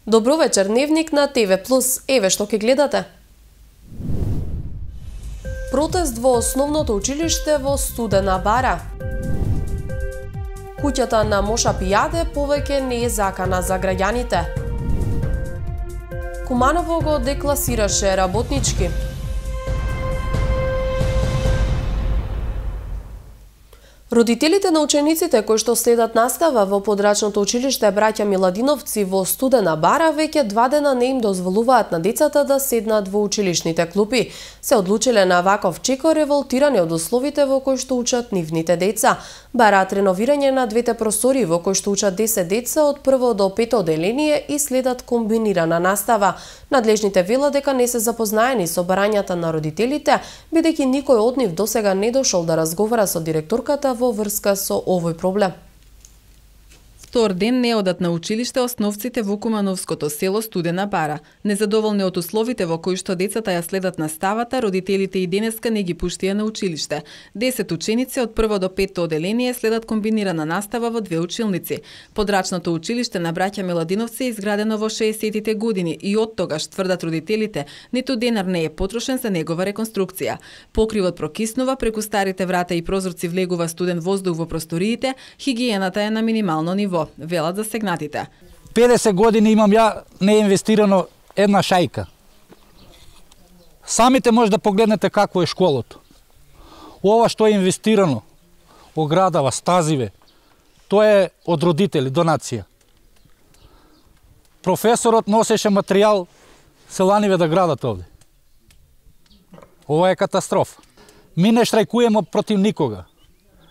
Добро вечер, Дневник на ТВ+. Еве што ќе гледате. Протест во основното училиште во Студена Бара. Куќата на Моша Пијаде повеќе не е закана за граѓаните. Куманово го декласираше работнички. Родителите на учениците кои што следат настава во подрачното училиште Браќа Миладиновци во Студена Бара веќе 2 дена не им дозволуваат на децата да седнат во училишните клупи. Се одлучиле на ваков чеко револтирани од условите во кои што учат нивните деца. Бараат реновирање на двете простори во кои што учат 10 деца од 1 до 5 оделение и следат комбинирана настава. Надлежните велат дека не се запознаени со барањата на родителите, бидејќи никој од нив досега не дошол да разговара со директорката во врска со овој проблем. Втор ден не одат на училиште основците во кумановското село Студена Бара. Незадоволни од условите во кои што децата ја следат наставата, родителите и денеска не ги пуштија на училиште. 10 ученици од 1 до 5 оделение следат комбинирана настава во 2 училници. Подрачното училиште на Браќа Миладиновци е изградено во 60-тите години и од тогаш, тврдат родителите, ниту денар не е потрошен за негова реконструкција. Покривот прокиснува, преку старите врата и прозорци влегува студен воздух во просториите, хигиената е на минимално ниво, велат засегнатите. 50 години имам ја не е инвестирано една шајка. Самите може да погледнете какво е школото. Ова што е инвестирано, оградава, стазиве, тоа е од родители, донација. Професорот носеше материјал селаниве да градат овде. Ова е катастрофа. Ми не штрајкуемо против никога.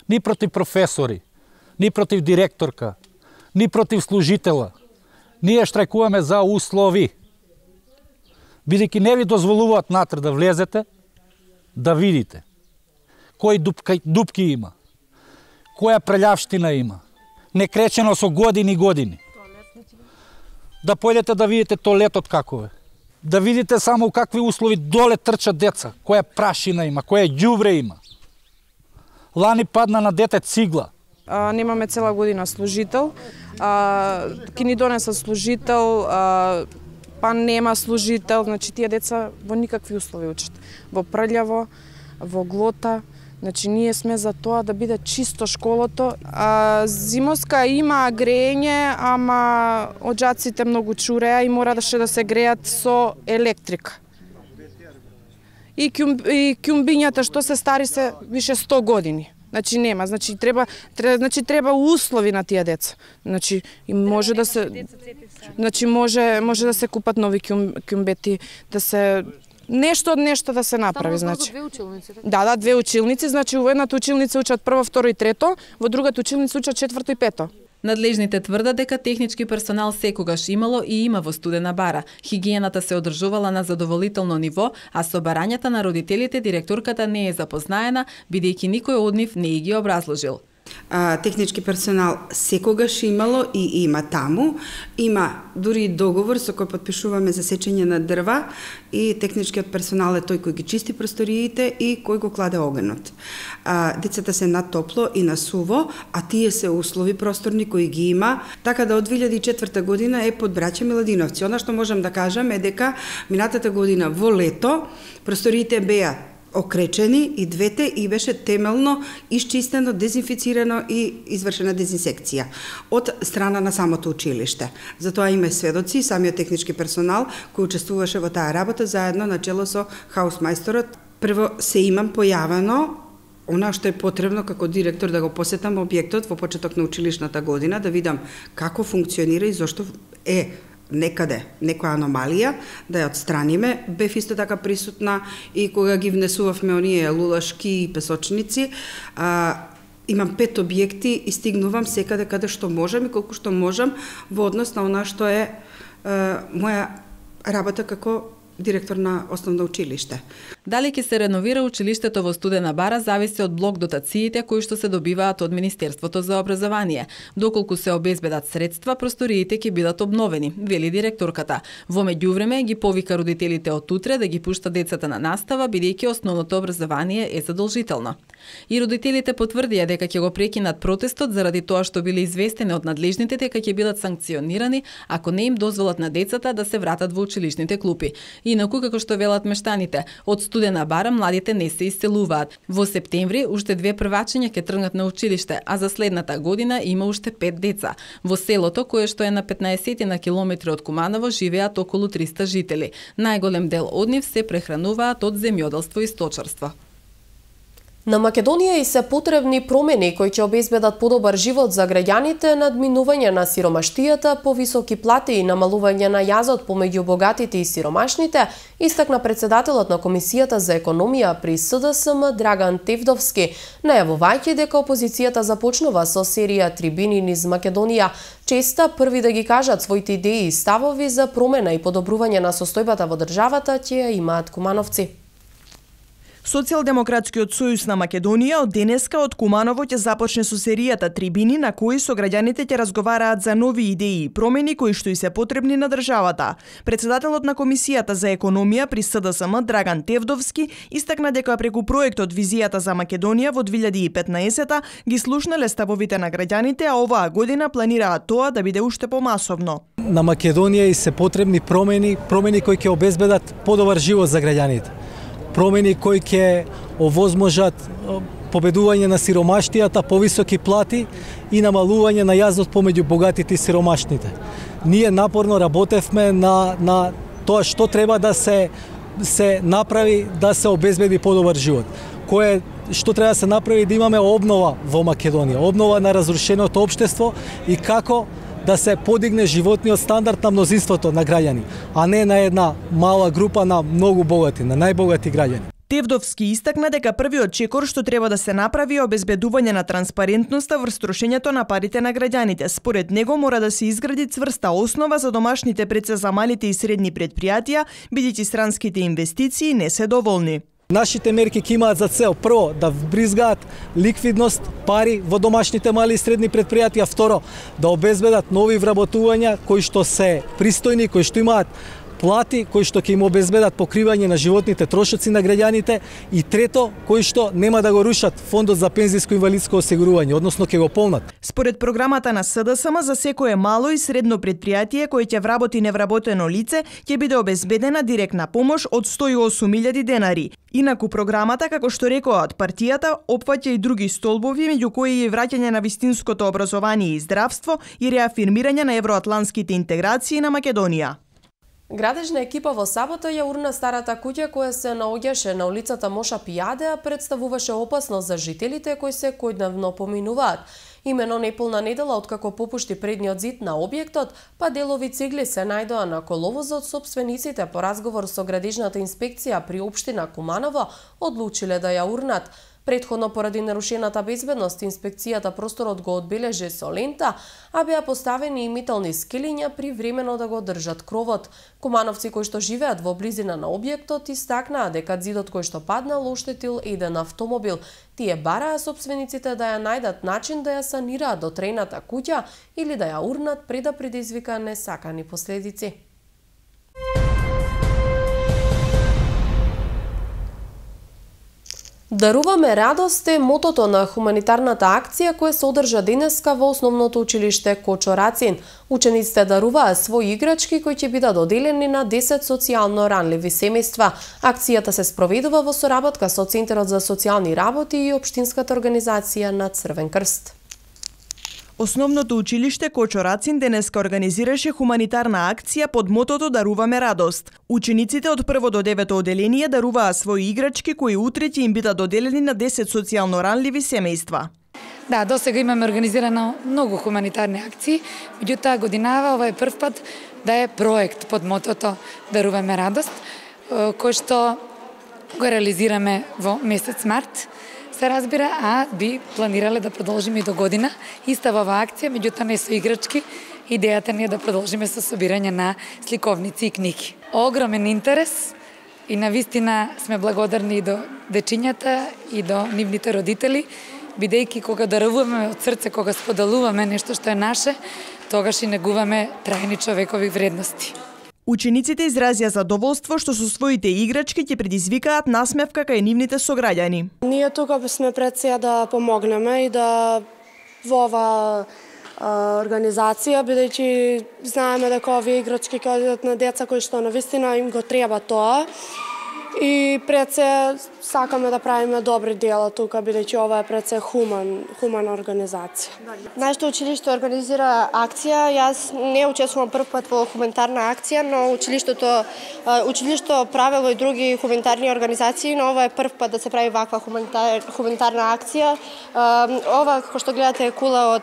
Ни против професори, ни против директорка, ни против служитела. Ние штрајкуваме за услови. Бидејќи не ви дозволуваат натре да влезете, да видите кои дупки има, која прелјавштина има, некречено со години и години. Да појдете да видите тоалетот каков е. Да видите само какви услови доле трчат деца, која прашина има, која ѓубре има. Лани падна на дете цигла. Немаме цела година служител, ки ни донеса служител, па нема служител, значи тие деца во никакви услови учат. Во прљаво, во глота, значи ние сме за тоа да биде чисто школото. Зимоска има грење, ама оđаците многу чуреа и мораше да се греат со електрика. И ќумбињата што се стари се више 100 години. Значи нема, треба услови на тие деца. Значи може да се може да се купат нови ќумбети, да се нешто да се направи, значи. Да, 2 училници, значи во едната училница учат 1, 2 и 3, во другата училница учат 4 и 5. Надлежните тврдат дека технички персонал секогаш имало и има во Студена Бара. Хигиената се одржувала на задоволително ниво, а со барањата на родителите директорката не е запознаена, бидејќи никој од нив не ги образложил. Технички персонал секогаш имало и има таму. Има дури договор со кој подпишуваме за сечење на дрва и техничкиот персонал е тој кој ги чисти просториите и кој го кладе огнот. Децата се на топло и на суво, а тие се услови просторни кои ги има. Така да од 2004 година е под Браќа Миладиновци. Она што можам да кажам е дека минатата година во лето просториите беа окречени и двете и беше темелно исчистено, дезинфицирано и извршена дезинсекција од страна на самото училиште. Затоа има сведоци, самиот технички персонал кој учествуваше во таа работа заедно на чело со хаусмајсторот. Прво се имам појавено она што е потребно како директор да го посетам објектот во почеток на училишната година, да видам како функционира и зошто е некаде некоја аномалија, да ја отстраниме. Бев исто така присутна и кога ги внесувавме оние лулашки и песочници. Имам 5 објекти и стигнувам секаде каде што можам и колку што можам во однос на она што е моја работа како директор на основно училиште. Дали ќе се реновира училиштето во Студена Бара зависи од блок дотациите кои што се добиваат од Министерството за образование. Доколку се обезбедат средства, просториите ќе бидат обновени, вели директорката. Во меѓувреме ги повика родителите од утре да ги пушта децата на настава, бидејќи основното образование е задолжително. И родителите потврдија дека ќе го прекинат протестот заради тоа што биле известени од надлежните дека ќе бидат санкционирани ако не им дозволат на децата да се вратат во училишните клупи. Инаку, како што велат мештаните, од Студена Бара младите не се исцелуваат. Во септември уште 2 првачиња ќе тргнат на училиште, а за следната година има уште 5 деца. Во селото, кое што е на 15 на километри од Куманово, живеат околу 300 жители. Најголем дел од нив се прехрануваат од земјоделство и сточарство. На Македонија и се потребни промени кои ќе обезбедат подобар живот за граѓаните, надминување на сиромаштијата, повисоки плати и намалување на јазот помеѓу богатите и сиромашните, истакна председателот на Комисијата за економија при СДСМ Драган Тевдовски, најавувајќи дека опозицијата започнува со серија трибини низ Македонија, честа први да ги кажат своите идеи и ставови за промена и подобрување на состојбата во државата ќе ја имаат кумановци. Социјалдемократскиот сојуз на Македонија од денеска од Куманово ќе започне со серијата трибини на кои со граѓаните ќе разговараат за нови идеи и промени кои што и се потребни на државата. Председателот на Комисијата за економија при СДСМ Драган Тевдовски истакна дека преку проектот Визијата за Македонија во 2015 ги слушнале ставовите на граѓаните, а оваа година планираат тоа да биде уште помасовно. На Македонија и се потребни промени кои ќе обезбедат подобар живот за граѓаните. Промени кои ќе овозможат победување на сиромаштијата, повисоки плати и намалување на јазот помеѓу богатите и сиромашните. Ние напорно работевме на тоа што треба да се направи да се обезбеди подобар живот. Што треба да се направи да имаме обнова во Македонија, обнова на разрушеното општество и како да се подигне животниот стандард на мнозинството на граѓани, а не на една мала група на многу богати, на најбогати граѓани. Тевдовски истакна дека првиот чекор што треба да се направи е обезбедување на транспарентноста врз трошењето на парите на граѓаните. Според него мора да се изгради цврста основа за домашните преца за малите и средни предпријатија, бидејќи странските инвестиции не се доволни. Нашите мерки ќе имаат за цел прво да вбризгаат ликвидност, пари во домашните мали и средни предпријатија, второ да обезбедат нови вработувања кои што се пристојни, кои што имаат плати, кои што ќе им обезбедат покривање на животните трошоци на граѓаните и трето, кои што нема да го рушат фондот за пензиско и инвалидско осигурување, односно ќе го полнат. Според програмата на СДСМ за секое мало и средно предпријатие кое ќе вработи невработено лице, ќе биде обезбедена директна помош од 108.000 денари. Инаку програмата, како што рекоа од партијата, опфаќа и други столбови, меѓу кои е враќање на вистинското образование и здравство и реафирмирање на евроатлантските интеграции на Македонија. Градежна екипа во сабота ја урна старата куќа која се наоѓаше на улицата Моша Пијаде, а представуваше опасност за жителите кои се којдневно поминуваат. Имено неполна недела откако попушти предниот зид на објектот, па делови цигли се најдоа на коловозот, сопствениците по разговор со градежната инспекција при општина Куманово одлучиле да ја урнат. Претходно поради нарушената безбедност, инспекцијата просторот го одбележи со лента, а беа поставени и метални скелиња привремено да го држат кровот. Кумановци кои што живеат во близина на објектот истакнаа дека зидот кој што паднал оштетил еден автомобил. Тие бараа сопствениците да ја најдат начин да ја санираат дотрената куќа или да ја урнат пред да предизвика несакани последици. Даруваме радост е мотото на хуманитарната акција која се одржа денеска во основното училиште Кочо Рацин. Учениците даруваа своји играчки кои ќе бидат доделени на 10 социјално ранливи семејства. Акцијата се спроведува во соработка со Центарот за социјални работи и Општинската организација на Црвен крст. Основното училиште Кочо Рацин денеска организираше хуманитарна акција под мотото Даруваме радост. Учениците од 1 до 9 оделение даруваа своји играчки кои утре ќе им бидат доделени на 10 социјално ранливи семејства. Да, досега имаме организирано многу хуманитарни акции, меѓутоа годинава ова е прв пат да е проект под мотото Даруваме радост, кој што го реализираме во месец март. Се разбира, а би планирале да продолжиме и до година. Иста ова акција, меѓутоа не со играчки. Идејата ни е да продолжиме со собирање на сликовници и книги. Огромен интерес, и навистина сме благодарни и до дечињата и до нивните родители, бидејќи кога даруваме од срце, кога споделуваме нешто што е наше, тогаш и негуваме трајни човекови вредности. Учениците изразија задоволство што со своите играчки ќе предизвикаат насмевка кај нивните сограѓани. Ние тука сме пред се да помогнеме и да во ова организација, бидејќи знаеме дека овие играчки ќе одат на деца кои што навистина им го треба тоа. И пред се сакаме да правиме добри дела тука, бидејќи ова е пред се хумана организација. Нашето училиште организира акција. Јас не учествувам прв пат во хуманитарна акција, но училишто правело и други хуманитарни организации, но ова е прв пат да се прави ваква хуманитарна акција. Ова кој што гледате е кула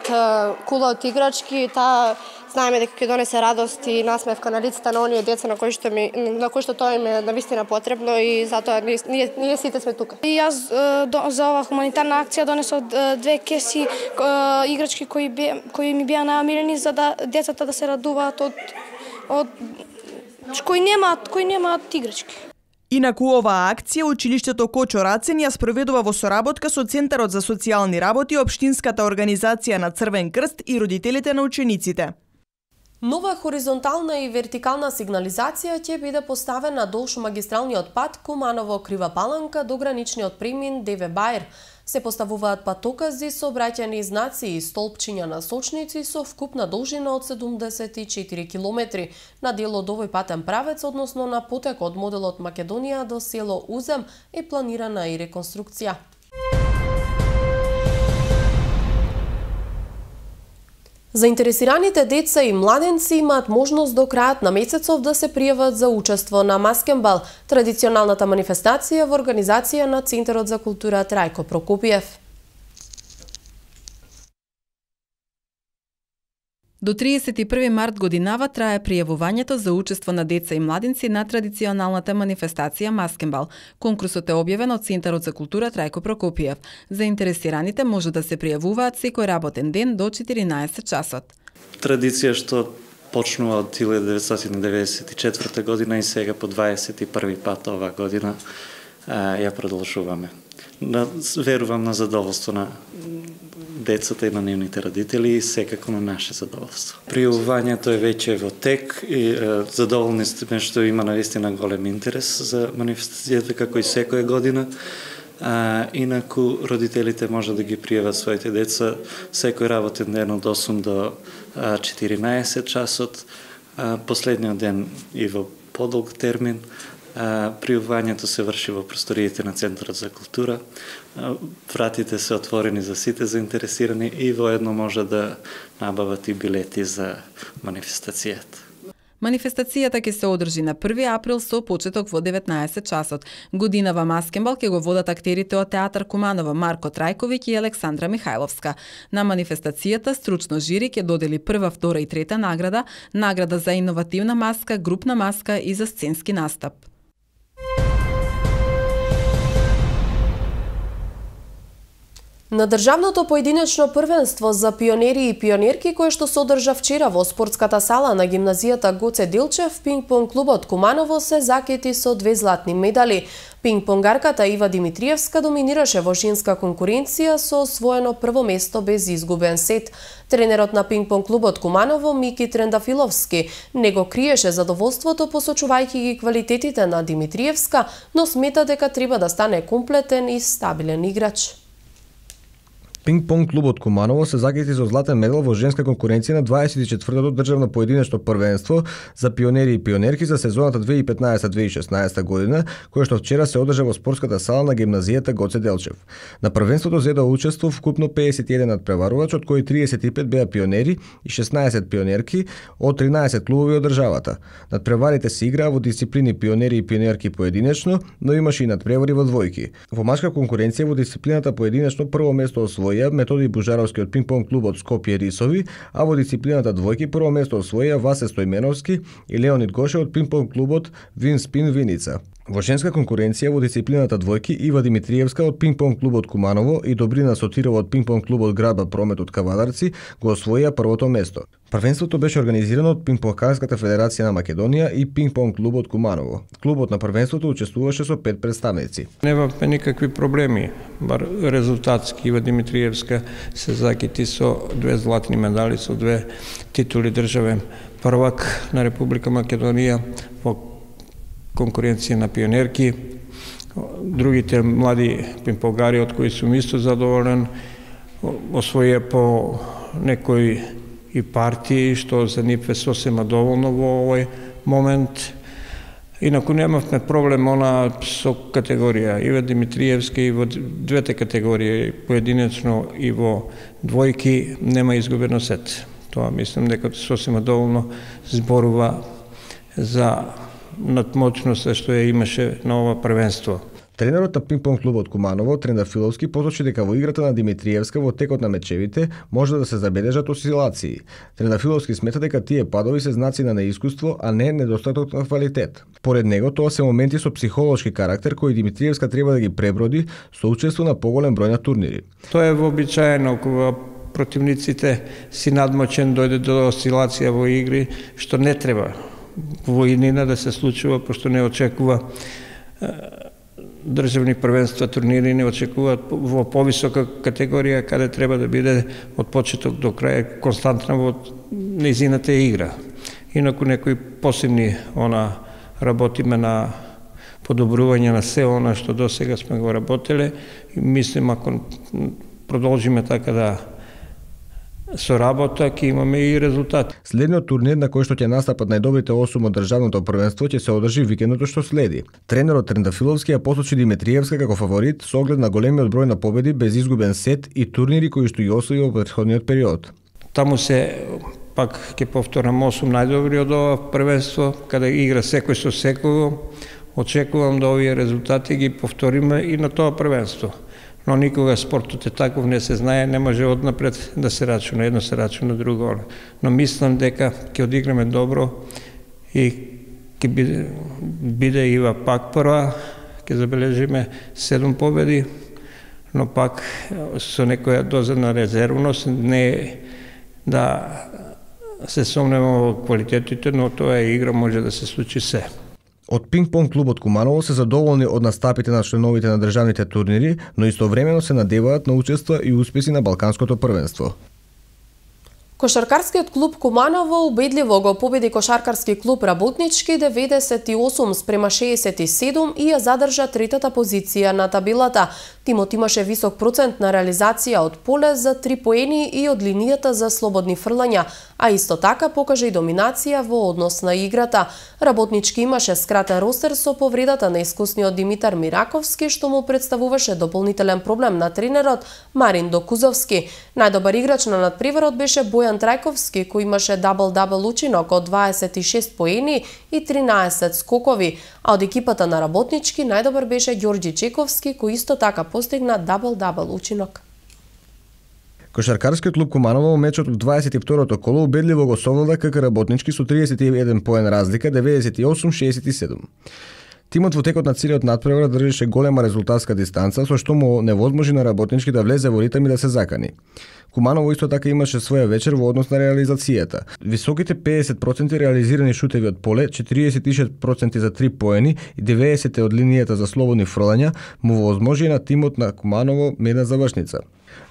од играчки, таа знаеме дека ќе донесе радост и насмевка на лицата на оние деца на кои што тоа им е навистина потребно и затоа ние сите сме тука. И јас за ова хуманитарна акција донесов 2 кеси играчки кои ми беа најамилени за да децата да се радуваат од кои немаат играчки. Инаку оваа акција училиштето Кочо Рацин ја спроведува во соработка со Центарот за социјални работи, Општинската организација на Црвен крст и родителите на учениците. Нова хоризонтална и вертикална сигнализација ќе биде поставена долж магистралниот пат Куманово-Крива Паланка до граничниот премин Деве Бајр. Се поставуваат патокази со обраќајни знаци и столпчиња насочници со вкупна должина од 74 километри на дел од овој патен правец, односно на потек од моделот Македонија до село Узем е планирана и реконструкција. Заинтересираните деца и младенци имаат можност до крајот на месецов да се пријават за учество на Маскенбал, традиционалната манифестација во организација на Центарот за култура Трајко Прокопиев. До 31 март годинава трае пријавувањето за учество на деца и младинци на традиционалната манифестација Маскенбал. Конкурсот е објавен од Центарот за култура Трајко Прокопиев. Заинтересираните може да се пријавуваат секој работен ден до 14 часот. Традиција што почнува од 1994 година и сега по 21 пат оваа година ја продолжуваме. Верувам на задоволство на децата и на нивните родители и секако на наше задоволство. Пријавувањето е веќе во тек и задоволни сме што има навистина голем интерес за манифестацијата како и секоја година. Инаку родителите може да ги пријават своите деца секој работен ден од 8 до 14 часот, последниот ден и во подолг термин. Пријавувањето се врши во просториите на Центарот за култура. Вратите се отворени за сите заинтересирани и воедно може да набават и билети за манифестацијата. Манифестацијата ќе се одржи на 1 април со почеток во 19 часот. Годинава Маскенбал ќе го водат актерите од Театар Куманово Марко Трајковиќ и Александра Михајловска. На манифестацијата стручно жири ќе додели прва, втора и трета награда, награда за иновативна маска, групна маска и за сценски настап. На државното поединечно првенство за пионери и пионерки кое што се одржа вчера во спортската сала на гимназијата Гоце Делчев, пинг-понг клубот Куманово се закети со 2 златни медали. Пинг-понгарката Ива Димитриевска доминираше во женска конкуренција со освоено прво место без изгубен сет. Тренерот на пинг-понг клубот Куманово Мики Трендафиловски не го криеше задоволството посочувајќи ги квалитетите на Димитриевска, но смета дека треба да стане комплетен и стабилен играч. Пинг-понг клубот Куманово се закети со златен медал во женска конкуренција на 24-тото државно поединечно првенство за пионери и пионерки за сезоната 2015-2016 година, кое што вчера се одржа во спортската сала на гимназијата Гоце Делчев. На првенството зедоа учество вкупно 51 надпреварувачи, од кои 35 беа пионери и 16 пионерки од 13 клубови од државата. Надпреварите се играа во дисциплини пионери и пионерки поединечно, но имаше и надпревари во двојки. Во машка конкуренција во дисциплината поединечно прво место освои Методи Бужаровски од пинг-понг клубот Скопје Рисови, а во дисциплината двојки прво место освоија Васе Стојменовски и Леонид Гоше од пинг-понг клубот Вин Спин Виница. Во женска конкуренција во дисциплината двојки Ива Димитриевска од пинг-понг клубот Куманово и Добрина Сотирова од пинг-понг клубот Градба Промет од Кавадарци го освоија првото место. Првенството беше организирано од Пинг-понгарската федерација на Македонија и пинг-понг клубот Куманово. Клубот на првенството учествуваше со 5 представници. Немаме никакви проблеми, бар резултатски. Ива Димитриевска се закити со 2 златни медали, со 2 титули државен првак на Република Македонија во конкуренција на пионерки. Другите млади пинг-понгари од кои сум исто задоволен освоија по некои и партии, што за нив е сосема доволно во овој момент. Инаку немавме проблем со категорија. Ива Димитриевска и во двете категории, поединечно и во двојки, нема изгубено сет. Тоа мислам дека сосема доволно зборува за надмочноста што ја имаше на ова првенство. Тренерот на пинг-понг клубот Куманово, Трендафиловски, посочи дека во играта на Димитриевска во текот на мечевите може да се забележат осцилации. Трендафиловски смета дека тие падови се знаци на неискуство, а не недостаток на квалитет. Поред него, тоа се моменти со психолошки карактер кои Димитриевска треба да ги преброди со учество на поголем број на турнири. Тоа е вообичаено кога противниците си надмочен дојде до осцилација во игри, што не треба во иднина да се случува, пошто не очекува државни првенства, турнири не очекуваат во повисока категорија, каде треба да биде од почеток до крај константна во нејзината игра. Инаку некои посебни работиме на подобрување на се она што до сега сме го работеле и мислим ако продолжиме така да со работа ќе имаме и резултати. Следниот турнир на кој што ќе настапат најдобрите 8 од државното првенство ќе се одржи викендото што следи. Тренерот Трендафиловски ја посочи Димитриевска како фаворит со оглед на големиот број на победи без изгубен сет и турнири кои што ја освои во претходниот период. Таму се пак ќе повторам 8 најдобри од ова првенство, каде игра секој со секого. Очекувам да овие резултати ги повториме и на тоа првенство. Но никога спортот е таков, не се знае, не може однапред да се рачуна, едно се рачуна, друго. Но мислам дека ќе одиграме добро и ќе биде Ива пак прва, ќе забележиме 7 победи, но пак со некоја доза на резервност, не да се сомнеме во квалитетите, но тоа е игра, може да се случи се. Од пинг-понг клубот Куманово се задоволни од настапите на членовите на државните турнири, но истовремено се надеваат на учества и успеси на Балканското првенство. Кошаркарскиот клуб Куманово убедливо го победи кошаркарски клуб Работнички 98-67 и ја задржа третата позиција на табелата. Тимот имаше висок процент на реализација од поле за 3 поени и од линијата за слободни фрлања, а исто така покажа и доминација во однос на играта. Работнички имаше скратен ростер со повредата на искусниот Димитар Мираковски, што му представуваше дополнителен проблем на тренерот Марин Докузовски. Најдобар играч на надпреварот беше Бојан Трајковски, кој имаше дабл-дабл учинок од 26 поени и 13 скокови, а од екипата на Работнички најдобар беше Ѓорѓи Чековски, кој исто така постигна дабл-дабл учинок. Кошаркарскиот клуб Куманово во мечот од 22-то коло убедливо го совлада КК Работнички со 31 поен разлика, 98-67. Тимот во текот на целиот надпревар држеше голема резултатска дистанца, со што му невозможи на Работнички да влезе во ритм и да се закани. Куманово исто така имаше своја вечер во однос на реализацијата. Високите 50% реализирани шутеви од поле, 46% за 3 поени и 90% од линијата за слободни фрлања му возможи на тимот на Куманово медна завршница.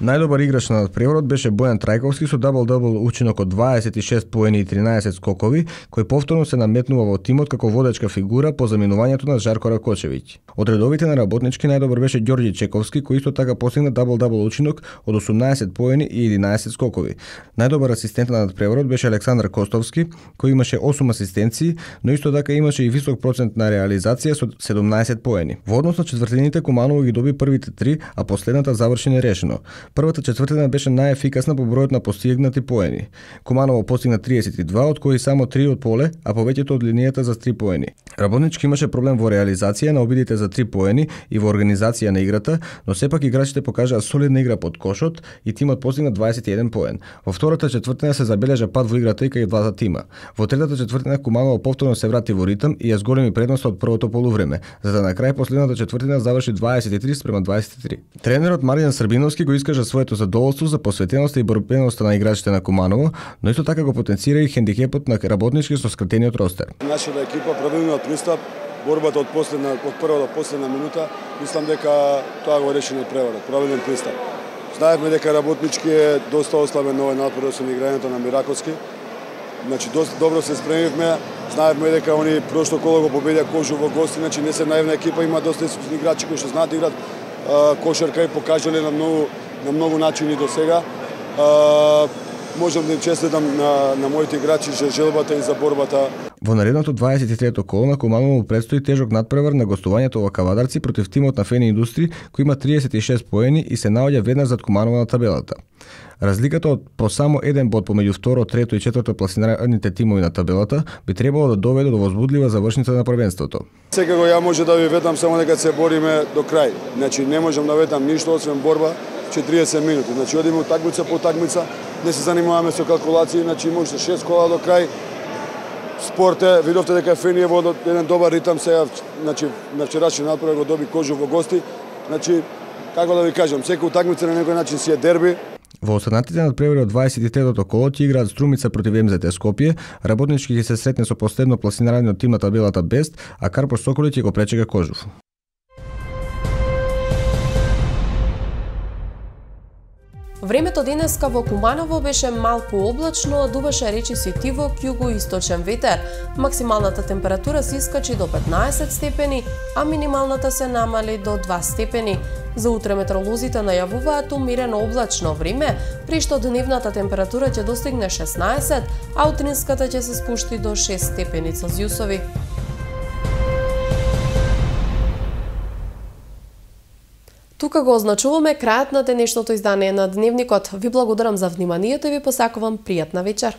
Најдобар играч на надпреварот беше Бојан Трајковски со дабл-дабл учинок од 26 поени и 13 скокови, кој повторно се наметнува во тимот како водечка фигура по заминувањето на Жарко Ракочевиќ. Од редовите на Работнички најдобар беше Ѓорѓи Чековски, кој исто така постигна дабл-дабл учинок од 18 поени и 11 скокови. Најдобар асистент на надпреварот беше Александар Костовски, кој имаше 8 асистенции, но исто така имаше и висок процент на реализација со 17 поени. Во однос на четвртините Куманово ги доби првите 3, а последната заврши нерешено. Првата четвртина беше најефикасна по бројот на постигнати поени. Куманово постигна 32, од кои само 3 од поле, а повеќето од линијата за 3 поени. Работнички имаше проблем во реализација на обидите за 3 поени и во организација на играта, но сепак играчите покажаа солидна игра под кошот и тимот постигна 21 поен. Во втората четвртина се забележа пад во играта и кај двата тима. Во третата четвртина Куманово повторно се врати во ритм и ја зголеми предноста од првото полувреме, за да на крај последната четвртина заврши 23:23. Тренерот Маријан Србиновски го искажа своето задоволство за посветеноста и борбеноста на играчите на Куманово, но исто така го потенцира и хендикепот на Работнички со скратениот ростер. Нашата екипа правилниот пристап, борбата од прва до последна минута, мислам дека тоа го реши надпреварот, правилен пристап. Знаевме дека Работнички е доста ослабен на овој надпревар со играњето на Мираковски. Значи доста добро се спремивме, знаевме дека они прошло коло го победија Кожу во гости, значи не се наивна екипа, има доста искусни играчи кои што знаат да играат кошарка и покажале на многу начини до сега. Можам да им честитам на моите играчи за желбата и за борбата. Во наредното 23-то коло на Куманово предстои тежок надпревар на гостувањето во Кавадарци против тимот на Фени Индустри, кој има 36 поени и се наоѓа веднаш зад Куманово на табелата. Разликата од по само еден бод помеѓу второ, трето и четврто пласираните тимови на табелата би требало да доведе до возбудлива завршница на првенството. Секако ја може да ви ветам само дека се бориме до крај. Значи не можам да ветам ништо освен борба 40 минути. Значи одиме утакмица по утакмица, не се занимаваме со калкулации, значи може 6 кола до крај. Спорт е, видовте дека Фени е во еден добар ритам сега, значи на вчерашниот надпревар го доби Кожу во гости. Значи како да ви кажам, секоја утакмица на некој начин си е дерби. Во останатите надпревари од 23-тото коло ќе играат Струмица против МЗТ Скопје, Работнички ќе се сретне со последно пласираниот тим на табелата Бест, а Карпош Соколи ќе го пречека Кожув. Времето денеска во Куманово беше малку облачно, дуваше речиси тивок југо-источен ветер. Максималната температура се искачи до 15 степени, а минималната се намали до 2 степени. За утре метеоролозите најавуваат умерено облачно време, при што дневната температура ќе достигне 16, а утринската ќе се спушти до 6 степени Целзиусови. Тука го означуваме крајот на денешното издание на Дневникот. Ви благодарам за вниманието и ви посакувам пријатна вечер.